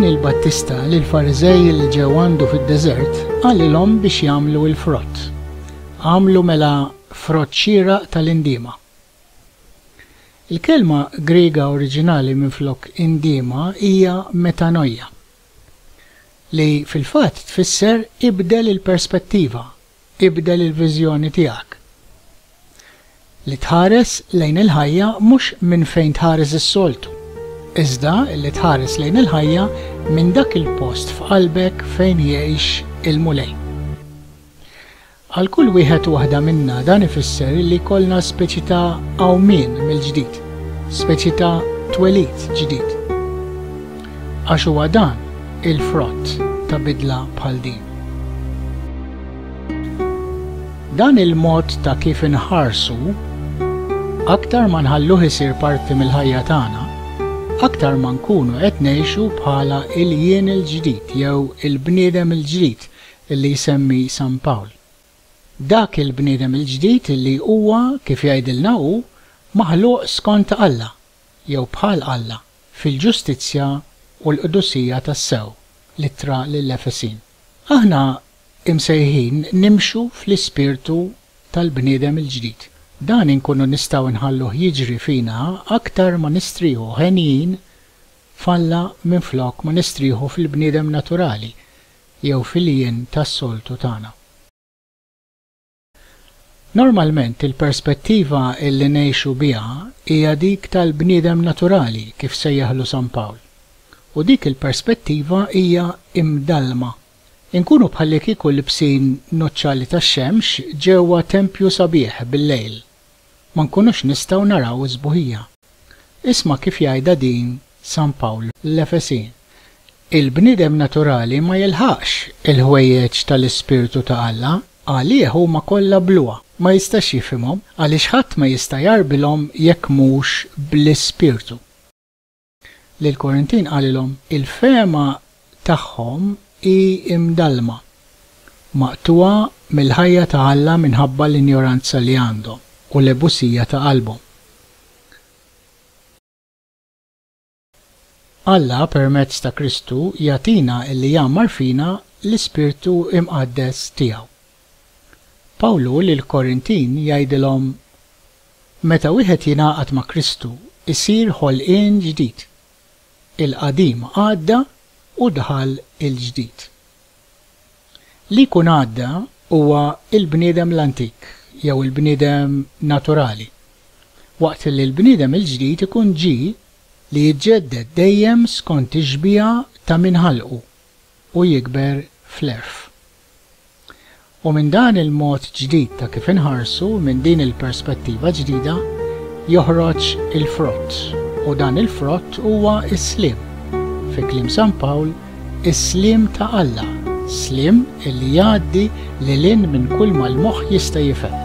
Ġwanni l-Battista lill-Fariżej li ġew għandu fid-deżert qalilhom biex jagħmlu l-frott. Agħmlu mela frott xieraq tal-indiema. Il-kelma Griega oriġinali minflok indiema hija metanoia, li fil-fatt tfisser ibdel il-perspettiva, ibdel il-viżjoni tiegħek. Li tħares lejn il-ħajja mhux minn fejn tħares is-soltu, iżda li tħares lejn il-ħajja minn dak il-post f'qalbek fejn jgħix il-Mulej. Għal kull wieħed u waħda minna dan ifisser li jkollna speċi ta' qawmien mill-ġdid, speċi ta' twelid ġdid. Għax huwa dan il-frott ta' bidla bħal din. Dan il-mod ta' kif inħarsu, aktar ma nħalluh isir parti mill-ħajja tagħna, aktar ma nkunu qed ngħixu bħala il-jien il-ġdid jew il-bniedem il-ġdid li jsemmi San Pawl. Dak il-bniedem il-ġdid li huwa, kif jgħidilna hu, maħluq skont Alla, jew bħal Alla, fil-ġustizzja u l-qdusija tassew, l-Ittra lill-Efesin. Aħna imsejħin nimxu fl-ispirtu tal-bniedem il-ġdid. Dan inkunu nistgħu nħalluh jiġri fina aktar ma nistrieħu henjin f'Alla minflok ma nistrieħu fil-bniedem naturali jew fil-jien tas-soltu tagħna. Normalment il-perspettiva illi ngħixu biha hija dik tal-bniedem naturali kif sejjaħlu San Pawl. U dik il-perspettiva hija imdallma. Inkunu bħallikieku libsin nuċċali tax-xemx ġewwa tempju sabiħ bil-lejl. Ma nkunux nistgħu naraw is-sbuħija. Isma' kif jgħidha din San Pawl l-Efesin, Il-bniedem naturali ma jilħaqx il-ħwejjeġ tal-Ispirtu ta' Alla, għalih huma kollha bluha, ma jistax jifhimhom, għaliex ħadd ma jista' jgħarbilhom jekk mhux bl-Ispirtu. Lill-Korintin qalilhom, Il-fehma tagħhom hi mdallma, maqtugħa mill-ħajja ta' Alla minħabba l-injoranza li għandhom u l-ebusija ta' qalbhom. Alla permezz ta' Kristu jagħtina illi jgħammar fina l-Ispirtu Imqaddes tiegħu. Pawlu lill-Korintin jgħidilhom, Meta wieħed jingħaqad ma' Kristu jsir ħolqien ġdid. Il-qadim għadda u daħal il-ġdid. Li jkun għadda huwa l-bniedem l-antik jew il-bniedem naturali, waqt li l-bniedem il-ġdid ikun ġie li jiġġedded dejjem skont ix-xbieha ta' min ħalqu u jikber fl-għerf. U minn dan il-mod ġdid ta' kif inħarsu, minn din il-perspettiva ġdida, joħroġ il-frott, u dan il-frott huwa s-sliem. Fi kliem San Pawl, is-sliem ta' Alla, sliem illi jgħaddi lil hinn minn kulma l-moħħ jista' jifhem.